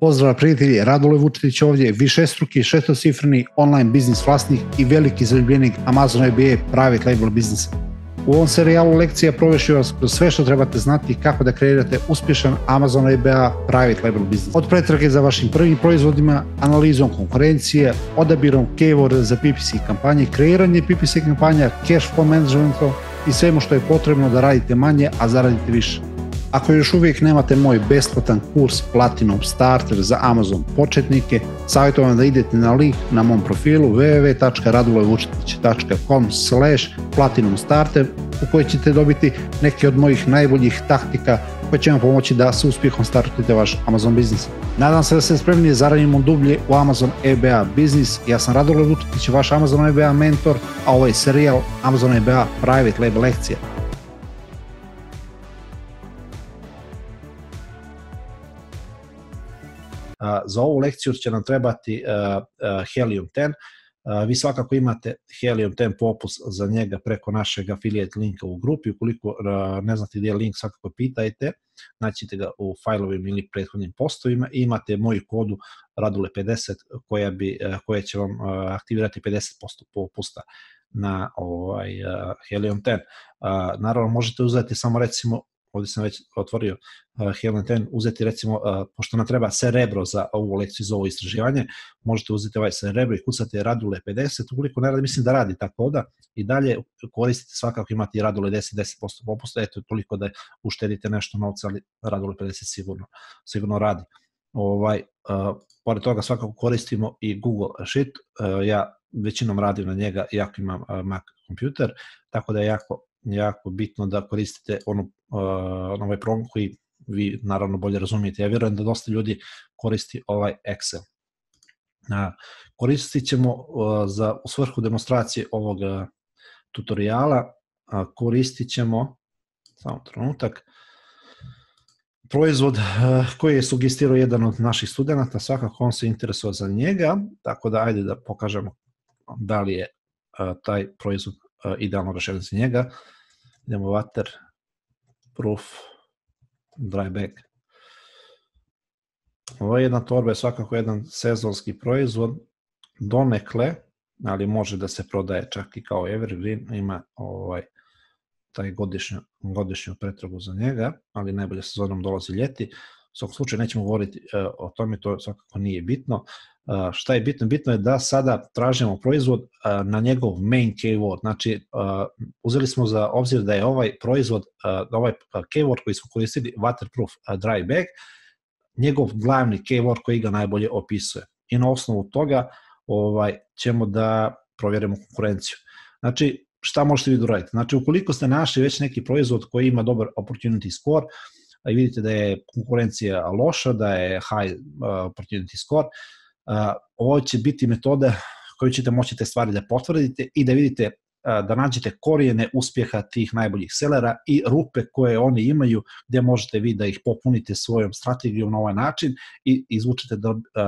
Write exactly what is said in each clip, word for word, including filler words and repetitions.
Pozdrav prijatelji, Radule Vučetić ovdje, višestruki šestocifreni online biznis vlasnik i veliki zaljubljenik Amazon E B A Private Label biznisa. U ovom serijalu lekcija provešću vas kroz sve što trebate znati kako da kreirate uspješan Amazon E B A Private Label biznis. Od pretrage za vašim prvim proizvodima, analizom konkurencije, odabirom keyword za P P C kampanje, kreiranje P P C kampanja, cash flow managementom i svemu što je potrebno da radite manje, a zaradite više. Ako još uvijek nemate moj besplatan kurs Platinum Starter za Amazon početnike, savjetujem vam da idete na link na mom profilu w w w tačka radulevučetić tačka com slash platinum starter u kojoj ćete dobiti neke od mojih najboljih taktika koje će vam pomoći da sa uspjehom startujete vaš Amazon biznis. Nadam se da ste spremni za radimo dublje u Amazon E B A biznis. Ja sam Radule Vučetić, vaš Amazon E B A mentor, a ovo je serijal Amazon E B A Private Label lekcija. Za ovu lekciju će nam trebati Helium deset. Vi svakako imate Helium deset popust za njega preko našeg affiliate linka u grupi. Ukoliko ne znate gdje je link, svakako pitajte. Naćite ga u failovima ili prethodnim postovima. Imate moju kodu Radule pedeset koja, bi, koja će vam aktivirati pedeset posto popusta na ovaj, Helium deset. Naravno, možete uzeti samo recimo, ovdje sam već otvorio uh, Helium deset, uzeti recimo, uh, pošto nam treba Cerebro za ovu lekciju, za ovo istraživanje, možete uzeti ovaj Cerebro i kucati Radule pedeset, ukoliko ne radi, mislim da radi tako da, i dalje koristite svakako imati Radule deset, deset posto popusta, eto toliko da uštedite nešto novca, ali Radule pedeset sigurno, sigurno radi. Ovaj, uh, pored toga svakako koristimo i Google Sheet, uh, ja većinom radim na njega, iako imam uh, Mac kompjuter, tako da je jako jako bitno da koristite ono, uh, ovaj program koji vi naravno bolje razumijete. Ja vjerujem da dosta ljudi koristi ovaj Excel. Uh, koristit ćemo uh, za, u svrhu demonstracije ovog uh, tutoriala, uh, koristit ćemo, samo trenutak, proizvod uh, koji je sugestirao jedan od naših studenta, svakako on se interesuje za njega, tako da ajde da pokažemo da li je uh, taj proizvod uh, idealno rešen za njega. Idemo waterproof dry bag. Ovo je jedna torba, je svakako jedan sezonski proizvod, donekle, ali može da se prodaje čak i kao evergreen, ima ovaj, taj godišnju, godišnju pretragu za njega, ali najbolje sezonom dolazi ljeti. U svakom slučaju nećemo govoriti uh, o tome, to svakako nije bitno. Uh, šta je bitno? Bitno je da sada tražimo proizvod uh, na njegov main keyword. Znači, uh, uzeli smo za obzir da je ovaj proizvod, uh, ovaj keyword koji smo koristili, waterproof uh, dry bag, njegov glavni keyword koji ga najbolje opisuje. I na osnovu toga ovaj, ćemo da provjerimo konkurenciju. Znači, šta možete vi uraditi? Znači, ukoliko ste našli već neki proizvod koji ima dobar opportunity score, i vidite da je konkurencija loša, da je high uh, opportunity score, uh, ovo će biti metoda koju ćete moći te stvari da potvrdite i da vidite, uh, da nađete korijene uspjeha tih najboljih selera i rupe koje oni imaju, gdje možete vi da ih popunite svojom strategijom na ovaj način i izvučete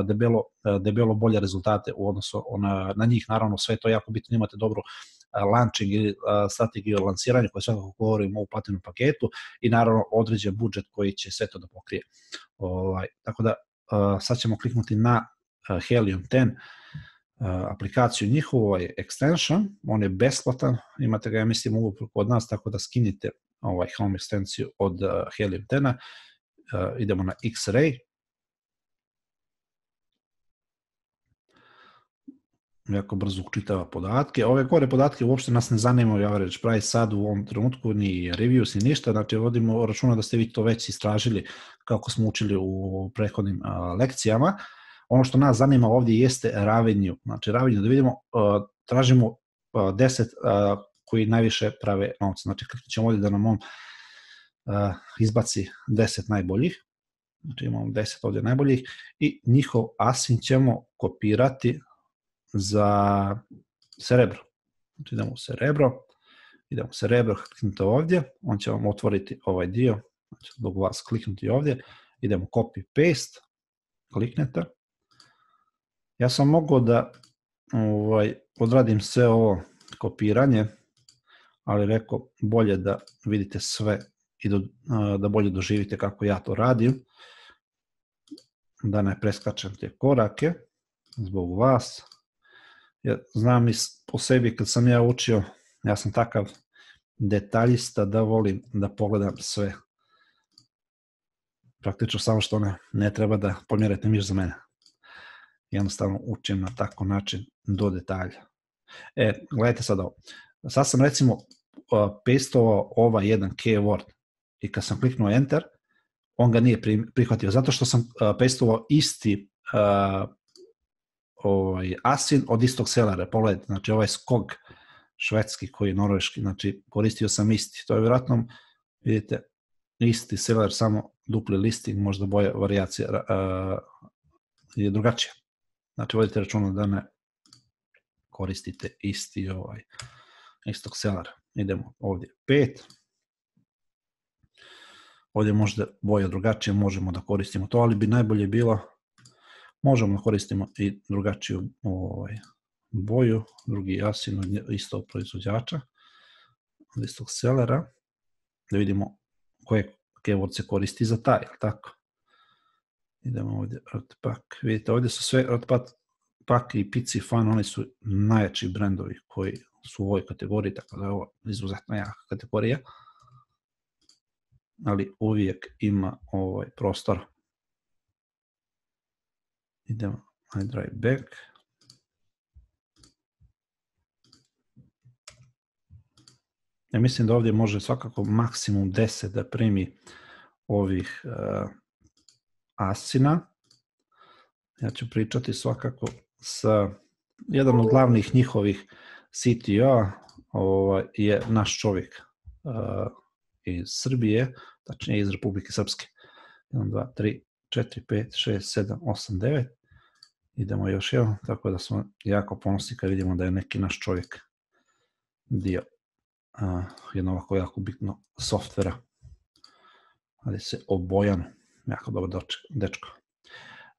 debelo, debelo bolje rezultate u odnosu na, na njih. Naravno, sve to jako bitno, imate dobru launching ili strategiju lansiranja koje svakako govorimo u platinum paketu i naravno određen budžet koji će sve to da pokrije. Ovaj, tako da sad ćemo kliknuti na Helium deset aplikaciju njihovu, ovaj extension, on je besplatan, imate ga ja mislim uvijek kod nas, tako da skinite ovaj home ekstenciju od Helium deset, idemo na X-Ray. Jako brzo učitava podatke. Ove gore podatke uopšte nas ne zanimaju, average price sad u ovom trenutku, ni reviews, ni ništa, znači vodimo računa da ste vi to već istražili kako smo učili u prethodnim uh, lekcijama. Ono što nas zanima ovdje jeste revenue, znači revenue da vidimo, uh, tražimo uh, deset uh, koji najviše prave novca, znači kliknut ćemo ovdje da nam on uh, izbaci deset najboljih, znači imamo deset ovdje najboljih i njihov asin ćemo kopirati za Cerebro. Znači idemo u Cerebro, idemo u Cerebro, kliknite ovdje, on će vam otvoriti ovaj dio, znači dok vas kliknuti ovdje, idemo copy paste, kliknete. Ja sam mogao da ovaj, odradim sve ovo kopiranje, ali rekao bolje da vidite sve i do, da bolje doživite kako ja to radim. da ne preskačem te korake zbog vas. Ja znam i po sebi kad sam ja učio, ja sam takav detaljista da volim da pogledam sve. Praktično samo što ne, ne treba da pomjerete miš za mene. Jednostavno učim na tako način do detalja. E, gledajte sad ovo. Sad sam recimo uh, pastovao ovaj jedan keyword i kad sam kliknuo enter, on ga nije prihvatio, zato što sam uh, pastovao isti uh, ovaj, asin od istog selera. Pogledajte, znači ovaj skog švedski koji je norveški, znači koristio sam isti. To je vjerojatno, vidite, isti seller, samo dupli listing, možda boja varijacija uh, je drugačija. Znači vodite računa da ne koristite isti ovaj, istog sellera. Idemo ovdje pet. Ovdje možda boja drugačije, možemo da koristimo to, ali bi najbolje bilo, možemo da koristimo i drugačiju ovaj, boju, drugi asin od istog proizvođača, od istog sellera, da vidimo koje keyword se koristi za taj, tako. Idemo ovdje, Artpak, vidite, ovdje su sve Artpak i Pici Fan, oni su najjači brendovi koji su u ovoj kategoriji, tako da je ovo izuzetno jaka kategorija, ali uvijek ima ovaj prostor. Idemo, I drive back. Ja mislim da ovdje može svakako maksimum deset da primi ovih uh, asina. Ja ću pričati svakako sa jedan od glavnih njihovih C T O ovaj, je naš čovjek uh, iz Srbije, tačnije iz Republike Srpske. jedan, dva, tri, četiri, pet, šest, sedam, osam, devet. Idemo još jedan, tako da smo jako ponosni kad vidimo da je neki naš čovjek dio uh, jedno ovako jako bitno softvera. Ali se obojan, jako dobro dečko.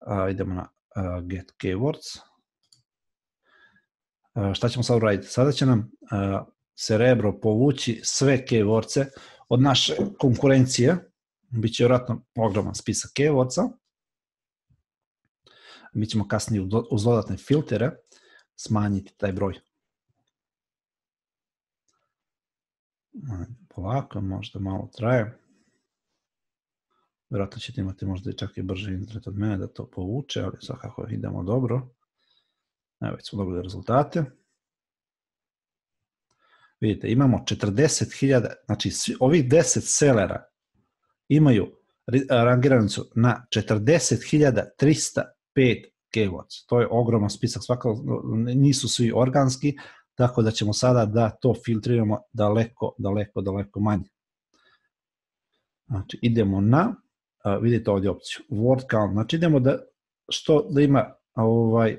Uh, idemo na uh, get keywords. Uh, šta ćemo sad uraditi? Sada će nam uh, Cerebro povući sve keywordse od naše konkurencije. Biće vjerojatno ogroman spisak keywordsa. Mi ćemo kasnije uz dodatne filtere smanjiti taj broj. Polako, možda malo traje. Vjerojatno ćete imati možda i čak i brže internet od mene da to povuče, ali svakako idemo dobro. Evo, već smo dobili rezultate. Vidite, imamo četrdeset hiljada, znači ovih deset sellera imaju rangiranicu na četrdeset hiljada trista pet keywords. To je ogroman spisak, svakako nisu svi organski, tako da ćemo sada da to filtriramo daleko, daleko, daleko manje. Znači, idemo na, uh, vidite ovdje opciju, word count, znači idemo da, što, da ima ovaj,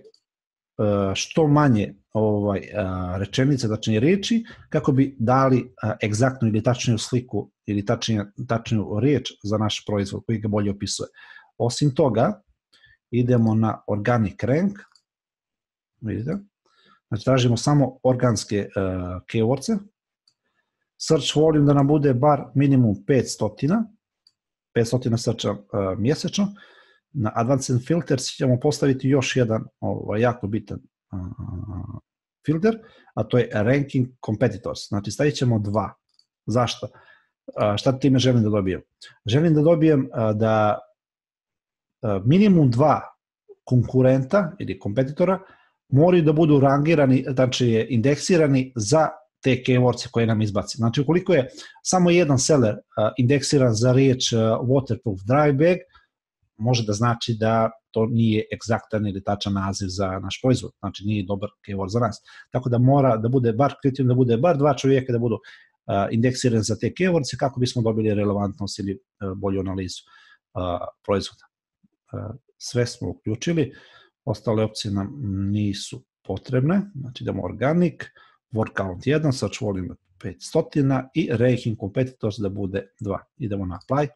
uh, što manje ovaj, uh, rečenice, znači riječi, kako bi dali uh, egzaktnu ili tačniju sliku ili tačniju, tačniju riječ za naš proizvod koji ga bolje opisuje. Osim toga, idemo na organic rank, vidite, znači tražimo samo organske uh, keywordse, search volume da nam bude bar minimum petsto, petsto searcha uh, mjesečno, na advanced filters ćemo postaviti još jedan ovaj, jako bitan uh, filter, a to je ranking competitors, znači stavit ćemo dva. Zašto? Uh, šta time želim da dobijem? Želim da dobijem uh, da uh, minimum dva konkurenta ili kompetitora moraju da budu rangirani, znači indeksirani za te keywordse koje nam izbaci. Znači, ukoliko je samo jedan seller uh, indeksiran za riječ uh, waterproof dry bag, može da znači da to nije egzaktan ili tačan naziv za naš proizvod. Znači, nije dobar keyword za nas. Tako da mora da bude bar kriterijum, da bude bar dva čovjeka da budu uh, indeksirani za te keywordse kako bismo dobili relevantnost ili uh, bolju analizu uh, proizvoda. Uh, sve smo uključili, ostale opcije nam nisu potrebne. Znači, idemo organic, word count jedan, search volume petsto i ranking competitors da bude dva. Idemo na apply.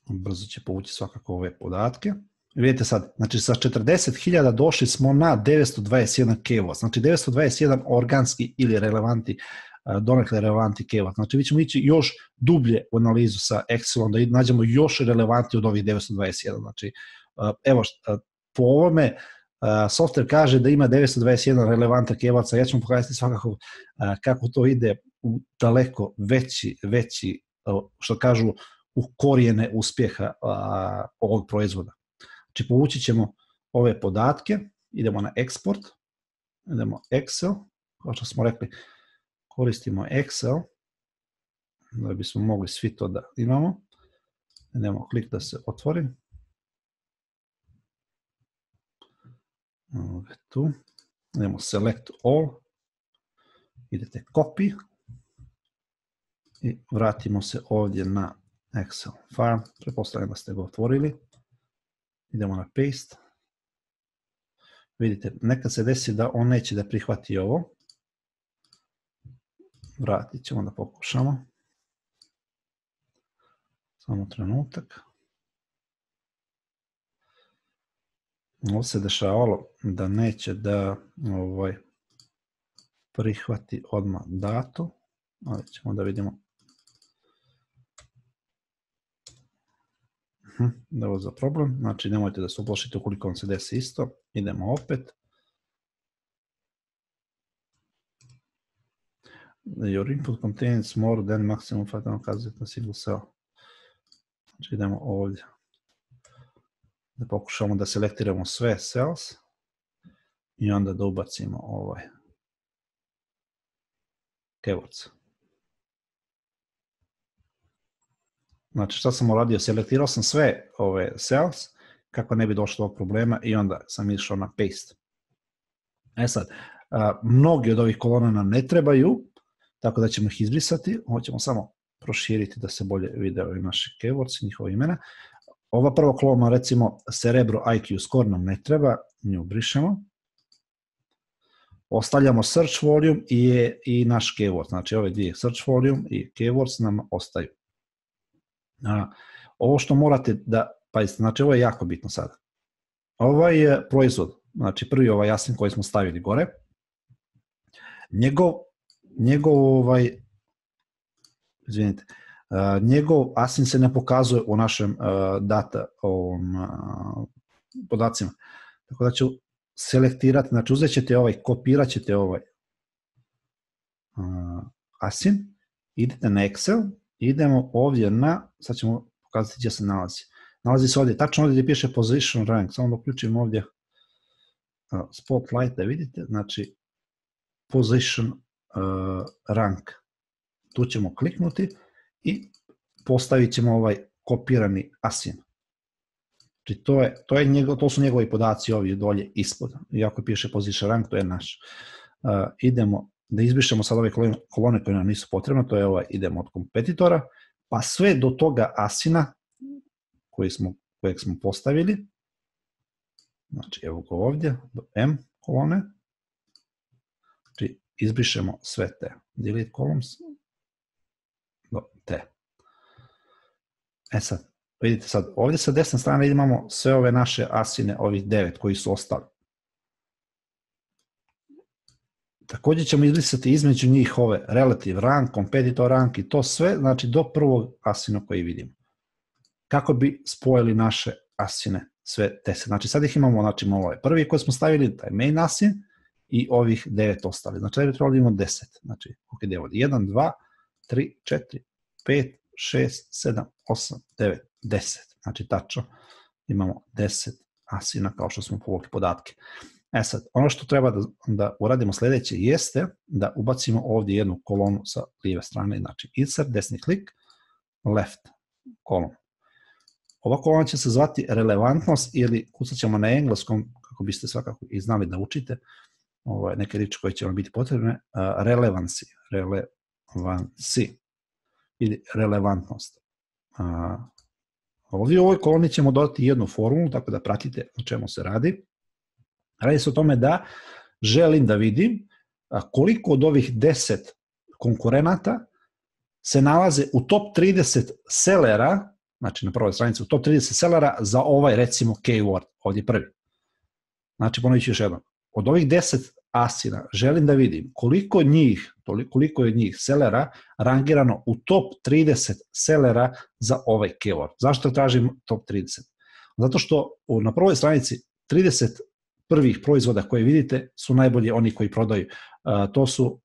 Brzo će povući svakako ove podatke. Vidite sad, znači sa četrdeset hiljada došli smo na devetsto dvadeset jedan keyword, znači devetsto dvadeset jedan organski ili relevanti donekle relevantni keyword. Znači, mi ćemo ići još dublje u analizu sa Excelom, da nađemo još relevantniji od ovih devetsto dvadeset jedan. Znači, evo, po ovome, software kaže da ima devetsto dvadeset jedan relevantan keyword, ja ću vam pokazati svakako kako to ide u daleko veći, veći, što kažu, u korijene uspjeha ovog proizvoda. Znači, povući ćemo ove podatke, idemo na export, idemo Excel, kao što smo rekli, koristimo Excel, da bismo mogli svi to da imamo. Idemo klik da se otvori. Ovdje tu, idemo select all, idete copy i vratimo se ovdje na Excel file, pretpostavljam da ste ga otvorili, idemo na paste, vidite, nekad se desi da on neće da prihvati ovo, vratit ćemo da pokušamo, samo trenutak. Ovo se dešavalo da neće da ovaj, prihvati odmah datu, ali ćemo da vidimo da je ovo za problem, znači nemojte da se uplašite ukoliko vam se desi isto, idemo opet. Your input contains more than maximum five thousand na single cell. Znači idemo ovdje. Da pokušamo da selektiramo sve cells i onda da ubacimo ovaj keywords. Znači šta sam uradio? Selektirao sam sve ove cells kako ne bi došlo do problema i onda sam išao na paste. E sad, a, mnogi od ovih kolona nam ne trebaju, tako da ćemo ih izbrisati. Ovo ćemo samo proširiti da se bolje vide ovi naši keywords, njihova imena. Ova prva kolona, recimo Cerebro I Q score nam ne treba, nju brišemo. Ostavljamo search volume i, i naš keyword, znači ove dvije search volume i keywords nam ostaju. A, ovo što morate da, pazite, znači ovo je jako bitno sada. Ovaj je proizvod, znači prvi ovaj Asin koji smo stavili gore, njegov, njegov ovaj, izvinite, Uh, njegov Asin se ne pokazuje u našem uh, data ovom, uh, podacima. Tako da ću selektirati, znači uzet ćete ovaj, kopirat ćete ovaj uh, Asin, idete na Excel, idemo ovdje na, sad ćemo pokazati gdje se nalazi. Nalazi se ovdje, tačno ovdje gdje piše position rank, samo da uključim ovdje uh, spotlight da vidite, znači position uh, rank. Tu ćemo kliknuti i postavit ćemo ovaj kopirani Asin. Znači to, je, to, je njegov, to su njegovi podaci ovdje dolje ispod. Iako piše position rank, to je naš. Uh, idemo da izbrišemo sad ove kolone koje nam nisu potrebne, to je ovaj, idemo od kompetitora, pa sve do toga Asina koji smo, kojeg smo postavili, znači evo ga ovdje, do M kolone, znači izbrišemo sve te, delete columns, do T. E sad, vidite sad, ovdje sa desne strane imamo sve ove naše Asine, ovih devet koji su ostali. Također ćemo izbrisati između njih ove relative rank, competitor rank i to sve, znači do prvog Asina koji vidimo. Kako bi spojili naše Asine, sve deset. Znači sad ih imamo, znači imamo ovaj prvi koji smo stavili, taj main Asin i ovih devet ostali. Znači da bi trebalo imamo deset. Znači, ok, ide ovdje jedan, dva, tri, četiri, pet, šest, sedam, osam, devet, deset. Znači tačno imamo deset Asina kao što smo povukli podatke. E sad, ono što treba da, da uradimo sljedeće jeste da ubacimo ovdje jednu kolonu sa lijeve strane, znači insert, desni klik, left kolon. Ova kolona će se zvati relevantnost ili kucat ćemo na engleskom, kako biste svakako i znali da učite, ovaj, neke riječi koje će vam biti potrebne, uh, relevancy, relevancy ili relevantnost. Uh, ovdje u ovoj koloni ćemo dodati jednu formulu, tako da pratite o čemu se radi. Radi se o tome da želim da vidim koliko od ovih deset konkurenata se nalaze u top trideset sellera, znači na prvoj stranici u top trideset sellera za ovaj recimo keyword, ovdje prvi. Znači ponovit ću još jednom, od ovih deset Asina želim da vidim koliko njih koliko je njih selera rangirano u top trideset selera za ovaj keyword. Zašto tražim top trideset? Zato što na prvoj stranici trideset prvih proizvoda koje vidite su najbolji oni koji prodaju. To su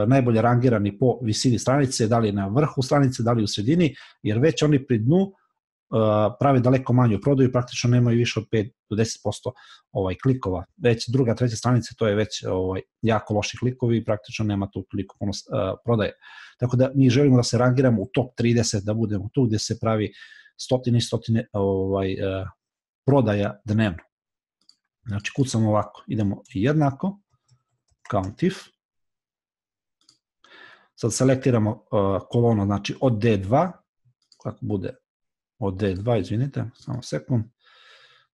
najbolje rangirani po visini stranice, da li na vrhu stranice, da li u sredini, jer već oni pri dnu prave daleko manju prodaju, praktično nemaju više od pet do deset posto ovaj, klikova. Već druga, treća stranica, to je već ovaj, jako loši klikovi i praktično nema tu toliko puno uh, prodaje. Tako da mi želimo da se rangiramo u top trideset, da budemo tu gdje se pravi stotine i stotine ovaj, uh, prodaja dnevno. Znači kucamo ovako, idemo jednako, count if, sad selektiramo uh, kolonu, znači od D dva, kako bude od D dva, izvinite, samo sekund,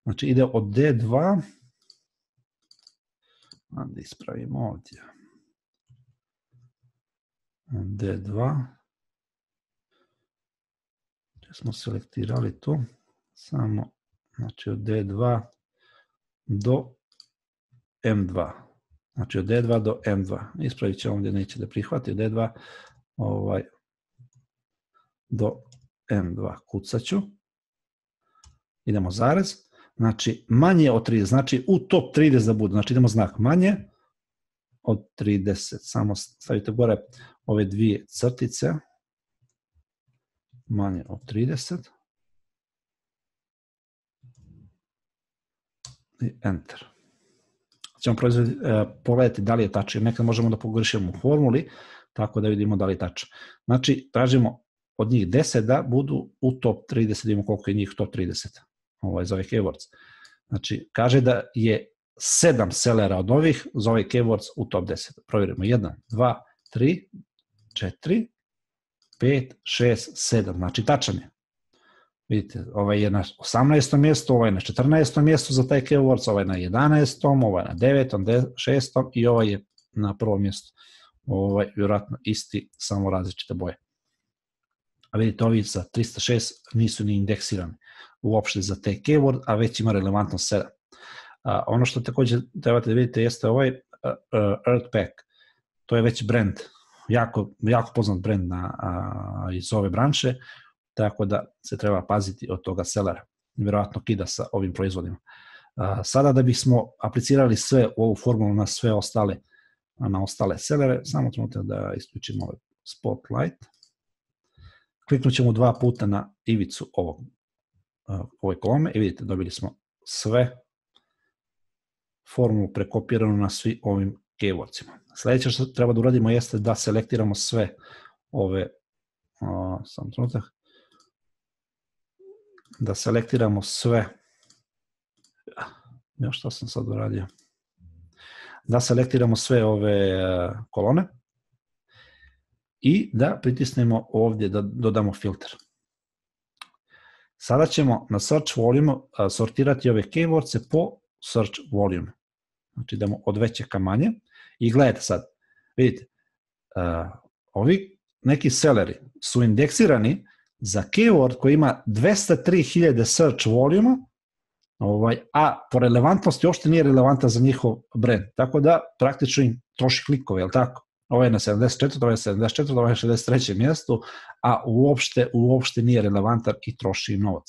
znači ide od D dva, da ispravimo ovdje, D dva, gdje smo selektirali tu, samo, znači od D dva do M dva, znači od D dva do M dva, ispravit će ovdje, neće da prihvati, od D dva ovaj, do M dva, kucat ću, idemo zarez, znači manje od trideset, znači u top trideset da bude, znači idemo znak manje od trideset, samo stavite gore ove dvije crtice, manje od trideset, i enter. Ćemo pogledati da li je tačno, nekad možemo da pogrešimo u formuli, tako da vidimo da li je tačno. Znači, tražimo od njih deset da budu u top trideset, vidimo koliko je njih top trideset ovaj, za ovaj keywords. Znači, kaže da je sedam sellera od ovih za ovaj keywords u top deset. Provjerimo jedan, dva, tri, četiri, pet, šest, sedam. Znači, tačan je. Vidite, ovaj je na osamnaestom mjestu, ovaj je na četrnaestom mjestu za taj keywords, ovaj je na jedanaestom, ovaj je na devetom, šestom i ovaj je na prvom mjestu. Ovaj, vjerojatno isti, samo različite boje. A vidite, ovi za trista šest nisu ni indeksirani uopšte za te keyword, a već ima relevantnost sedam. A, ono što također trebate da vidite jeste ovaj uh, uh, Earthpack. To je već brand, jako, jako poznat brand na, a, iz ove branše, tako da se treba paziti od toga sellera. Vjerojatno kida sa ovim proizvodima. A, sada da bismo aplicirali sve u ovu formulu na sve ostale, na ostale sellere, samo trenutak da isključimo ovaj Spotlight. Kliknut ćemo dva puta na ivicu ovog, ove kolome i vidite, dobili smo sve formulu prekopiranu na svi ovim keywordsima. Sljedeće što treba da uradimo jeste da selektiramo sve ove, o, sam trenutak, da selektiramo sve, još što sam sad uradio, da selektiramo sve ove kolone i da pritisnemo ovdje da dodamo filter. Sada ćemo na search volume sortirati ove keywordse po search volume. Znači idemo od veće ka manje i gledajte sad, vidite, uh, ovi neki selleri su indeksirani za keyword koji ima dvesta tri hiljade search volume, ovaj, a po relevantnosti uopšte nije relevanta za njihov brand. Tako da praktično im troši klikove, je li tako? Ovo je na sedamdeset četvrtom, ovo je sedamdeset četvrtom, ovo je na šezdeset trećem mjestu, a uopšte, uopšte nije relevantan i troši novac.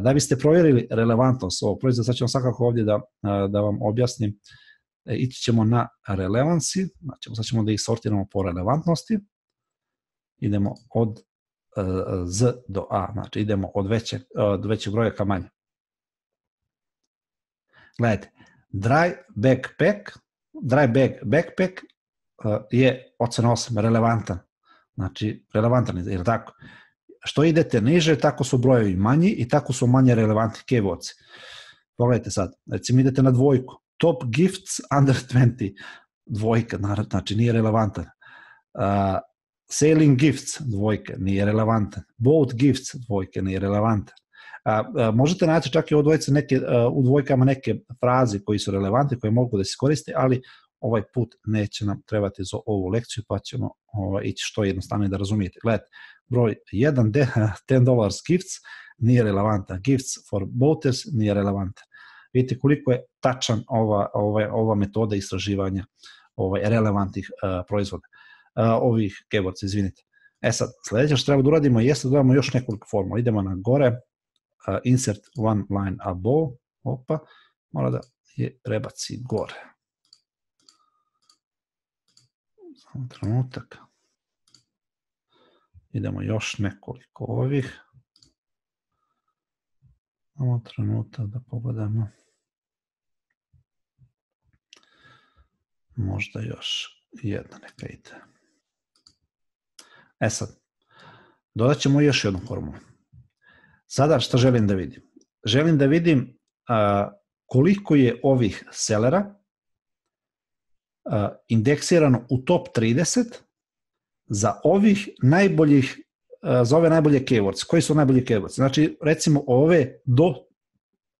Da biste provjerili relevantnost ovog proizvoda, sad ćemo svakako ovdje da, da vam objasnim, ići ćemo na relevancy, znači sad ćemo da ih sortiramo po relevantnosti, idemo od Z do A, znači idemo od većeg, od većeg broja ka manje. Gledajte, dry backpack, dry bag backpack je ocena osam, relevantan. Znači, relevantan je, je li tako? Što idete niže, tako su brojevi manji i tako su manje relevantni keywords. Pogledajte sad, recimo idete na dvojku. Top gifts under dvadeset, dvojka, znači nije relevantan. Uh, selling gifts, dvojka, nije relevantan. Bought gifts, dvojka, nije relevantan. Uh, uh, možete naći čak i u, neke, uh, u dvojkama neke fraze koji su relevantne, koje mogu da se koriste, ali ovaj put neće nam trebati za ovu lekciju, pa ćemo ovaj, ići što jednostavnije da razumijete. Gledajte, broj jedan, ten dollars gifts nije relevantan, gifts for boaters nije relevantan. Vidite koliko je tačan ova, ova, ova metoda istraživanja ovaj, relevantnih uh, proizvoda. ovih keywords, izvinite. E sad, sljedeće što treba da uradimo jeste da dodamo još nekoliko formula. Idemo na gore, uh, insert one line above, opa, mora da je prebaci gore. Samo trenutak. Idemo još nekoliko ovih. Samo trenutak da pogledamo. Možda još jedna neka ide. E sad, dodat ćemo još jednu formulu. Sada što želim da vidim? Želim da vidim a, koliko je ovih sellera a, indeksirano u top trideset za ovih najboljih, a, za ove najbolje keywords. Koji su najbolji keywords? Znači, recimo ove do,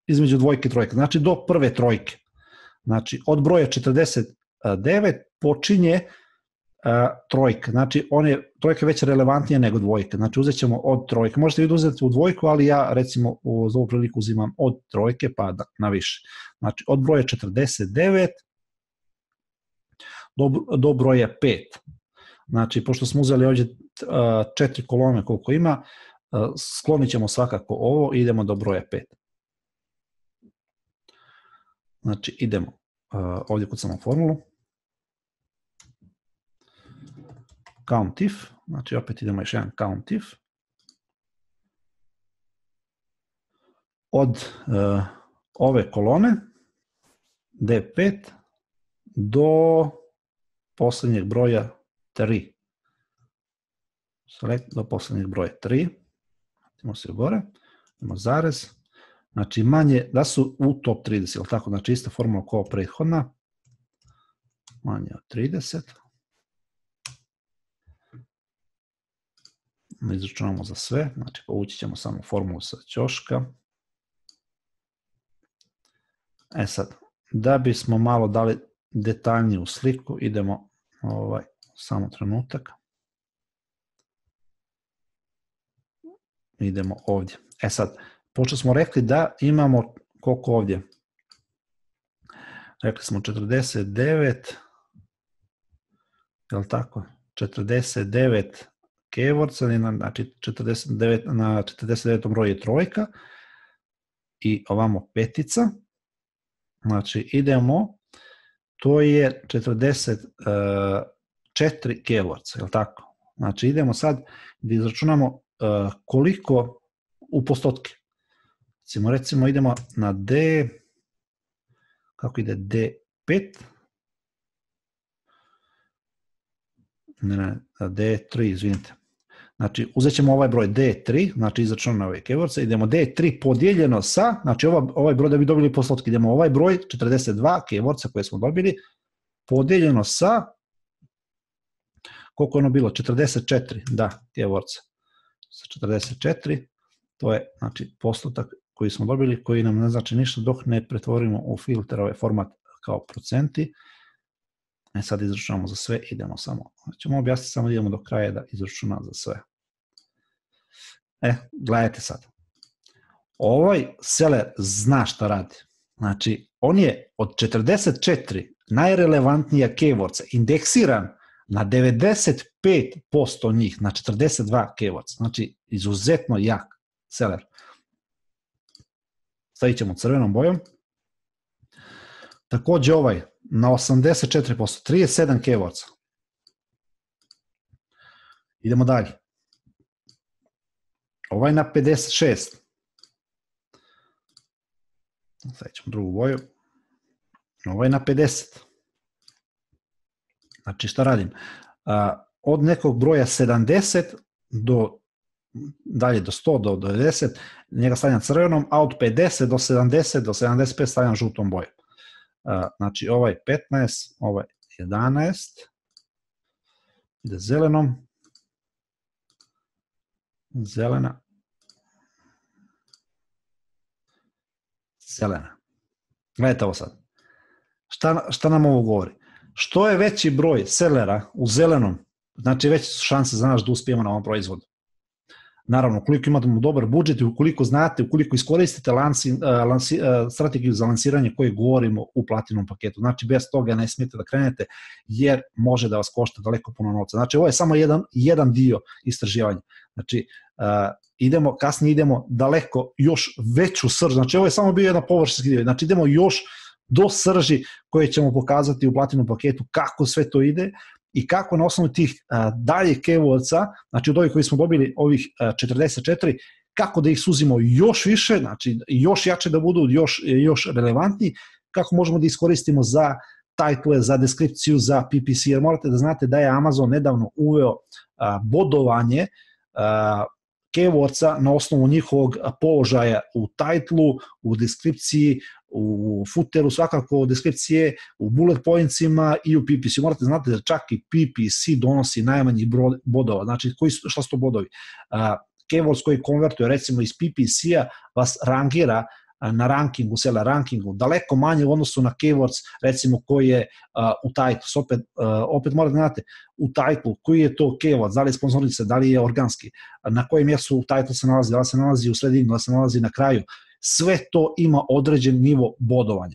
između dvojke i trojke, znači do prve trojke. Znači, od broja četrdeset devet počinje uh, trojka, znači one trojke već relevantnije nego dvojke, znači uzet ćemo od trojke, možete vi uzeti u dvojku, ali ja recimo u, za ovu priliku uzimam od trojke pa da, na više, znači od broja četrdeset devet do, do broja pet, znači pošto smo uzeli ovdje uh, četiri kolone koliko ima, uh, sklonit ćemo svakako ovo i idemo do broja pet. Znači idemo uh, ovdje kucamo formulu, count if, znači opet idemo još jedan count if, od uh, ove kolone D pet do posljednjeg broja tri. Select do posljednjeg broja tri. Idemo se gore, idemo zarez. Znači manje da su u top trideset, ili tako, znači ista formula kao prethodna, manje od trideset. Izračunamo za sve, znači povući ćemo samo formulu sa ćoška. E sad, da bismo malo dali detaljniju sliku, idemo ovaj, samo trenutak. Idemo ovdje. E sad, pošto smo rekli da imamo koliko ovdje? Rekli smo četrdeset devet, je li tako? četrdeset devet keywords, znači četrdeset devet, na četrdeset devetom broju je trojka i ovamo petica. Znači idemo, to je četrdeset četiri keywords, je li tako? Znači idemo sad da izračunamo koliko u postotke. Recimo, recimo idemo na D, kako ide D pet, ne, ne, D tri, izvinite. Znači, uzet ćemo ovaj broj D tri, znači izračunamo ove keywords, idemo D tri podijeljeno sa, znači ovaj, ovaj broj da bi dobili postotke, idemo ovaj broj, četrdeset dva keywords koje smo dobili, podijeljeno sa, koliko je ono bilo, četrdeset četiri, da, keywords, sa četrdeset četiri, to je, znači, postotak koji smo dobili, koji nam ne znači ništa dok ne pretvorimo u filter ovaj format kao procenti. E sad izračunamo za sve, idemo samo, ćemo objasniti samo idemo do kraja da izračuna za sve. E, gledajte sad. Ovaj seller zna šta radi. Znači, on je od četrdeset četiri najrelevantnija keywords indeksiran na devedeset pet posto njih, na četrdeset dva keywords. Znači, izuzetno jak seller. Stavit ćemo crvenom bojom. Također ovaj na osamdeset četiri posto, trideset sedam keywords. Idemo dalje. Ovaj na pedeset šest. Stavit ćemo drugu boju. Ovaj na pedeset. Znači šta radim? Od nekog broja sedamdeset do dalje do sto, do devedeset, njega stavljam crvenom, a od pedeset do sedamdeset do sedamdeset pet stavljam žutom bojom. Znači ovaj petnaest, ovaj jedanaest, ide zelenom, zelena, zelena. Gledajte ovo sad. Šta, šta nam ovo govori? Što je veći broj sellera u zelenom, znači veće su šanse za nas da uspijemo na ovom proizvodu. naravno, ukoliko imate dobar budžet i ukoliko znate, ukoliko iskoristite lansi, lansi, strategiju za lansiranje koje govorimo u platinum paketu. Znači, bez toga ne smijete da krenete, jer može da vas košta daleko puno novca. Znači, ovo je samo jedan, jedan dio istraživanja. Znači, uh, idemo, kasnije idemo daleko još veću srž. Znači, ovo je samo bio jedan površinski dio. Znači, idemo još do srži koje ćemo pokazati u platinum paketu kako sve to ide i kako na osnovu tih uh, dalje keywordsa, znači od ovih koji smo dobili, ovih uh, četrdeset četiri, kako da ih suzimo još više, znači još jače da budu, još, još relevantni, kako možemo da iskoristimo za title, za deskripciju, za P P C, jer morate da znate da je Amazon nedavno uveo uh, bodovanje uh, keywordsa na osnovu njihovog položaja u titlu, u deskripciji, u footeru, svakako u deskripcije, u bullet pointsima i u P P C. Morate znati da čak i P P C donosi najmanji broj bodova. Znači, koji su, šta su to bodovi? Uh, keywords koji konvertuje recimo iz P P C-a vas rangira na rankingu, sela rankingu, daleko manje u odnosu na keywords, recimo koji je uh, u titlu. Opet, uh, opet morate da znate, u titlu, koji je to keyword, da li je sponzorica, da li je organski, na kojem mjestu u titlu se nalazi, da li se nalazi u sredini, da li se nalazi na kraju. Sve to ima određen nivo bodovanja.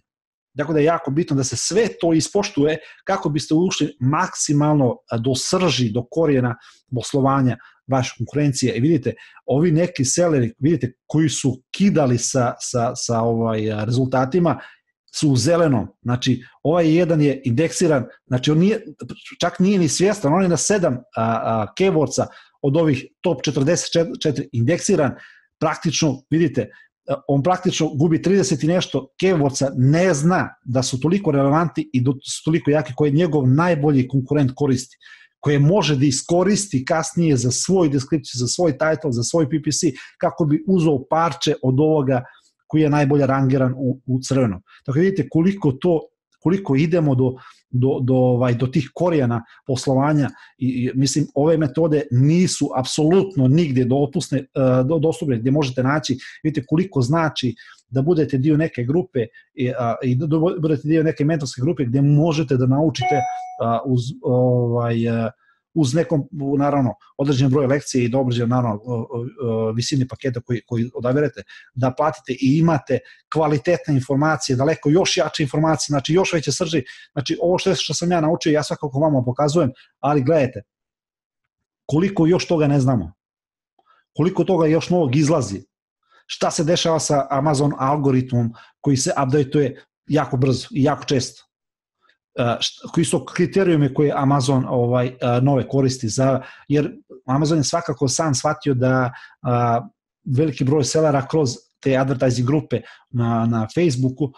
Dakle, da je jako bitno da se sve to ispoštuje kako biste ušli maksimalno do srži, do korijena poslovanja vaše konkurencije. I vidite, ovi neki seleri, vidite, koji su kidali sa, sa, sa ovaj rezultatima, su u zelenom. Znači, ovaj jedan je indeksiran, znači on nije, čak nije ni svjestan, on je na sedam a, a, keywordsa od ovih top četrdeset četiri indeksiran, praktično, vidite, on praktično gubi trideset i nešto keywordsa, ne zna da su toliko relevantni i da su toliko jaki koje njegov najbolji konkurent koristi, koje može da iskoristi kasnije za svoj deskripciju, za svoj title, za svoj P P C, kako bi uzeo parče od ovoga koji je najbolje rangiran u, u crvenom. Tako vidite koliko to, koliko idemo do, do, do, ovaj, do tih korijena poslovanja i, i mislim ove metode nisu apsolutno nigdje dopusne, do, dostupne gdje možete naći, vidite koliko znači da budete dio neke grupe i, a, i da budete dio neke mentorske grupe gdje možete da naučite a, uz ovaj a, uz nekom, naravno, određen broj lekcije i da određen, naravno, visini paketa koji, koji odaberete, da platite i imate kvalitetne informacije, daleko još jače informacije, znači još veće srži, znači ovo što, što sam ja naučio, ja svakako vama pokazujem, ali gledajte, koliko još toga ne znamo, koliko toga još novog izlazi, šta se dešava sa Amazon algoritmom koji se updateuje jako brzo i jako često, Uh, koji su kriterijumi koje Amazon ovaj, uh, nove koristi za, jer Amazon je svakako sam shvatio da uh, veliki broj sellera kroz te advertising grupe na, na Facebooku uh,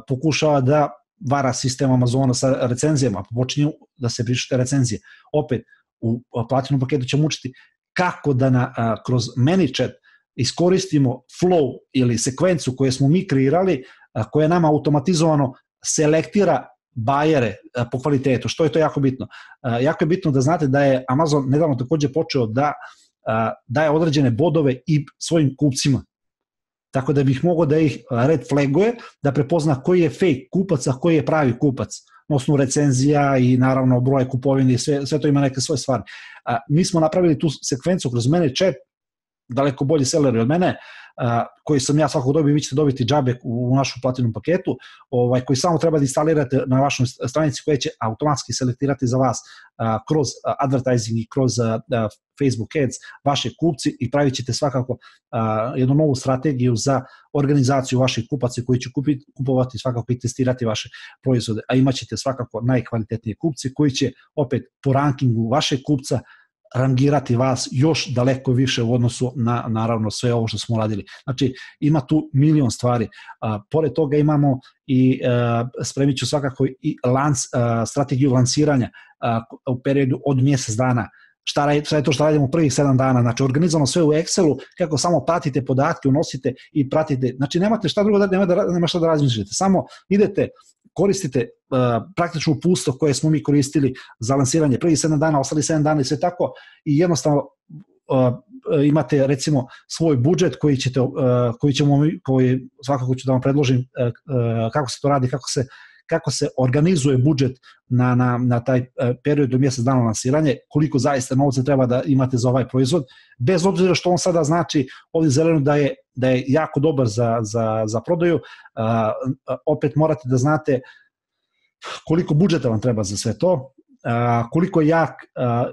pokušava da vara sistem Amazona sa recenzijama, počinju da se pišu recenzije. Opet, u platinum paketu ćemo učiti kako da na, uh, kroz ManyChat iskoristimo flow ili sekvencu koju smo mi kreirali, uh, koja nama automatizovano selektira bajere po kvalitetu, što je to jako bitno. Jako je bitno da znate da je Amazon nedavno također počeo da daje određene bodove i svojim kupcima. Tako da bih mogao da ih red flaguje, da prepozna koji je fake kupac, a koji je pravi kupac. Na osnovu recenzija i naravno broje kupovine i sve, sve to ima neke svoje stvari. Mi smo napravili tu sekvencu kroz ManyChat, daleko bolji seleri od mene, Uh, koji sam ja svakog dobio, vi ćete dobiti džabe u, u našem platinum paketu, ovaj, koji samo treba da instalirate na vašoj stranici koja će automatski selektirati za vas uh, kroz uh, advertising i kroz uh, uh, Facebook ads vaše kupci i pravit ćete svakako uh, jednu novu strategiju za organizaciju vaših kupaca koji će kupiti, kupovati svakako i testirati vaše proizvode, a imat ćete svakako najkvalitetnije kupci koji će opet po rankingu vašeg kupca rangirati vas još daleko više u odnosu na, naravno, sve ovo što smo radili. Znači, ima tu milion stvari. A, pored toga imamo i a, spremit ću svakako i lans, a, strategiju lansiranja a, u periodu od mjesec dana. Šta, radi, šta je to što radimo u prvih sedam dana? Znači, organizovano sve u Excelu, kako samo pratite podatke, unosite i pratite. Znači, nemate šta drugo da, nema, da, nema šta da razmišljate. Samo idete, koristite uh, praktično upustvo koje smo mi koristili za lansiranje prvih sedam dana, ostali sedam dana i sve tako i jednostavno uh, imate recimo svoj budžet koji ćete, uh, koji ćemo, koji svakako ću da vam predložim uh, uh, kako se to radi, kako se kako se organizuje budžet na, na, na taj period do mjesec dana lansiranje, koliko zaista novca treba da imate za ovaj proizvod, bez obzira što on sada znači ovdje zeleno da je, da je jako dobar za, za, za prodaju, a, a, opet morate da znate koliko budžeta vam treba za sve to, a, koliko je jak, a,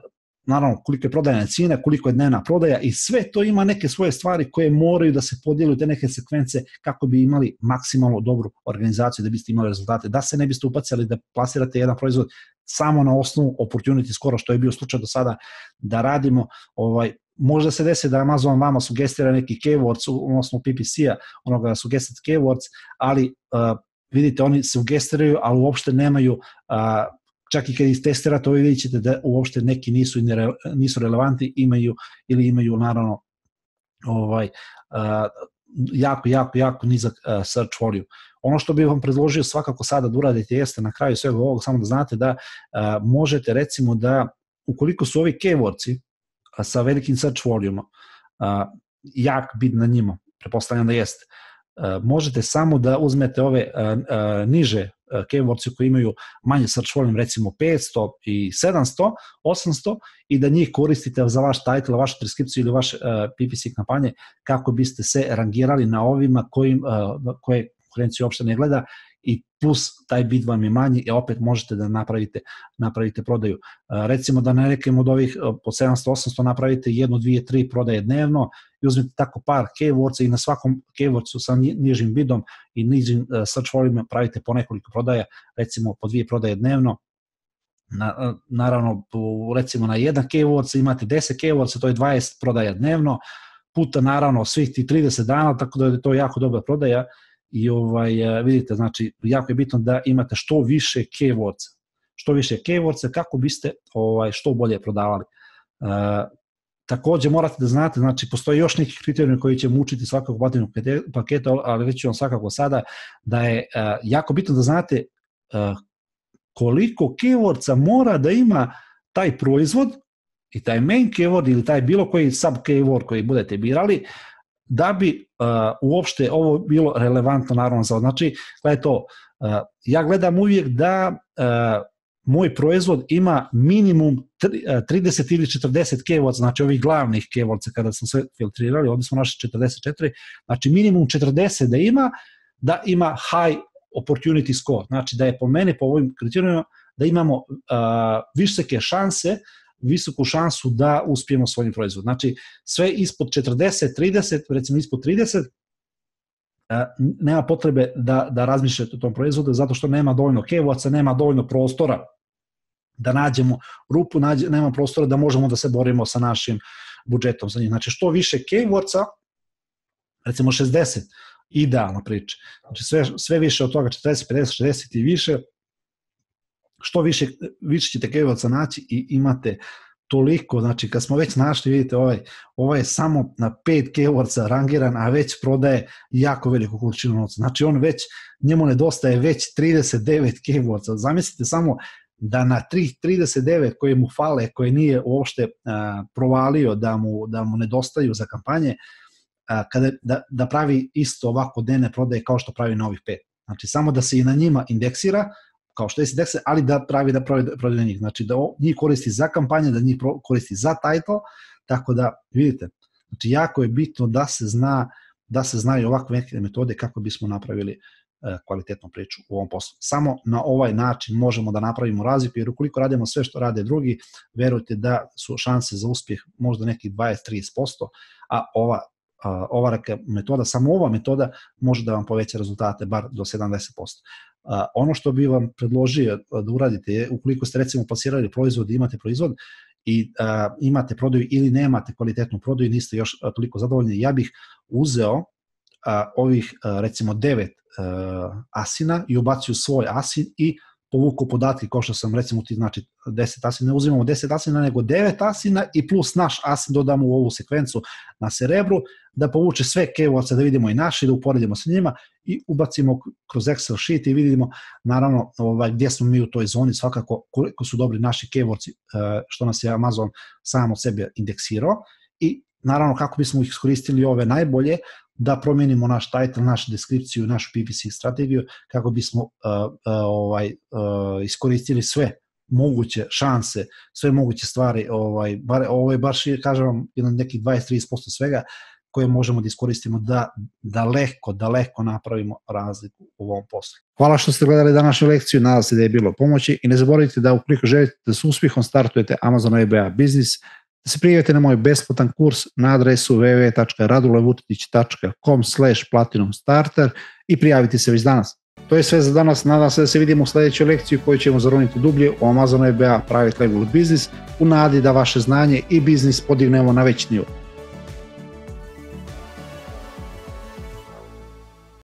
naravno koliko je prodajna cijena, koliko je dnevna prodaja i sve to ima neke svoje stvari koje moraju da se podijeli u te neke sekvence kako bi imali maksimalno dobru organizaciju da biste imali rezultate, da se ne biste upacali da plasirate jedan proizvod samo na osnovu opportunity skoro, što je bio slučaj do sada da radimo, ovaj, možda se desi da Amazon vama sugestira neki keywords, odnosno P P C-a, onoga suggested keywords, ali uh, vidite, oni sugestiraju, ali uopšte nemaju, uh, čak i kad ih testirate, ovo vidjet ćete da uopšte neki nisu, nisu relevantni, imaju ili imaju naravno ovaj, uh, jako, jako, jako nizak uh, search volume. Ono što bih vam predložio svakako sada da uradite jeste na kraju svega ovog, samo da znate da uh, možete recimo da, ukoliko su ovi keywordsi uh, sa velikim search volume uh, jak bit na njima, prepostavljam da jeste, uh, možete samo da uzmete ove uh, uh, niže keywordsi koji imaju manje search volume, recimo petsto i sedamsto, osamsto, i da njih koristite za vaš title, vašu transkripciju ili vaše uh, P P C kampanje kako biste se rangirali na ovima kojim, uh, koje konkurencija uopšte ne gleda i plus taj bit vam je manji i opet možete da napravite, napravite prodaju. Uh, recimo da na nekim od ovih uh, po sedamsto osamsto napravite jednu, dvije, tri prodaje dnevno i uzmete tako par keywordsa i na svakom keywordsu sa nižim bidom i nižim uh, search volume pravite po nekoliko prodaja, recimo po dvije prodaje dnevno. Na, uh, naravno, po, recimo na jedan keyword imate deset keywordsa, to je dvadeset prodaja dnevno, puta naravno svih ti trideset dana, tako da je to jako dobra prodaja. I ovaj, vidite, znači, jako je bitno da imate što više keywordsa, što više keywordsa kako biste ovaj, što bolje prodavali. E, također morate da znate, znači, postoji još neki kriterijumi koji će učiti svakog platinnog paketa, ali reći vam svakako sada da je e, jako bitno da znate e, koliko keywordsa mora da ima taj proizvod i taj main keyword ili taj bilo koji sub keyword koji budete birali, da bi uh, uopšte ovo bilo relevantno naravno za, znači, gledaj to, uh, ja gledam uvijek da uh, moj proizvod ima minimum trideset ili četrdeset keywordsa, znači ovih glavnih keywordsa kada smo sve filtrirali, ovdje smo našli četrdeset četiri, znači minimum četrdeset da ima, da ima high opportunity score, znači da je po meni, po ovim kriterijima, da imamo uh, visoke šanse, visoku šansu da uspijemo svojim proizvodom. Znači, sve ispod četrdeset, trideset, recimo ispod trideset, nema potrebe da, da razmišljate o tom proizvodu, zato što nema dovoljno keywordsa, nema dovoljno prostora da nađemo rupu, nađe, nema prostora da možemo da se borimo sa našim budžetom za njih. Znači, što više keywordsa, recimo šezdeset, idealna priča. Znači, sve, sve više od toga, četrdeset, pedeset, šezdeset i više, što više, više ćete keywordsa naći i imate toliko, znači kad smo već našli, vidite, ovaj, ovaj je samo na pet keywordsa rangiran, a već prodaje jako veliku količinu novca. Znači on već, njemu nedostaje već trideset devet keywordsa. Zamislite samo da na trideset devet koje mu fale, koje nije uopšte a, provalio da mu, da mu nedostaju za kampanje, a, kada, da, da pravi isto ovako dnevne prodaje kao što pravi na ovih pet. Znači samo da se i na njima indeksira, kao što je indekse, ali da pravi da prodaje njih. Znači da njih koristi za kampanje, da njih koristi za title, tako da vidite, znači jako je bitno da se zna, da se znaju ovakve neke metode kako bismo napravili uh, kvalitetnu priču u ovom poslu. Samo na ovaj način možemo da napravimo razliku, jer ukoliko radimo sve što rade drugi, verujte da su šanse za uspjeh možda nekih dvadeset do trideset posto, a ova uh, ova metoda, samo ova metoda može da vam poveća rezultate bar do sedamdeset posto. Uh, ono što bi vam predložio da uradite je, ukoliko ste recimo plasirali proizvod i imate proizvod i uh, imate prodaju ili nemate kvalitetnu prodaju i niste još uh, toliko zadovoljni, ja bih uzeo uh, ovih uh, recimo devet uh, asina i ubacio svoj asin i povukao podatke, kao što sam recimo ti znači deset asina, ne uzimamo deset asina nego devet asina i plus naš asin dodamo u ovu sekvencu na Cerebru, da povuče sve keywordse, da vidimo i naši, da uporedimo sa njima i ubacimo kroz Excel sheet i vidimo naravno ovaj, gdje smo mi u toj zoni, svakako koliko su dobri naši keywordsi, što nas je Amazon sam od sebe indeksirao i naravno kako bismo ih iskoristili ove najbolje, da promijenimo naš title, našu deskripciju, našu P P C strategiju kako bismo uh, uh, ovaj, uh, iskoristili sve moguće šanse, sve moguće stvari, ovaj, bar, ovaj, baš je, kažem vam, jedan nekih dvadeset do trideset posto svega koje možemo da iskoristimo da daleko, daleko napravimo razliku u ovom poslu. Hvala što ste gledali današnju lekciju, nadam se da je bilo pomoći i ne zaboravite da ukoliko želite da s uspjehom startujete Amazon E B A biznis, da se prijavite na moj besplatan kurs na adresu w w w tačka radulevutetić tačka com slash platinum starter i prijavite se već danas. To je sve za danas, nadam se da se vidimo u sljedećoj lekciji u kojoj ćemo zaroniti dublje u Amazon E B A Private Label Business u nadi da vaše znanje i biznis podignemo na veći nivo.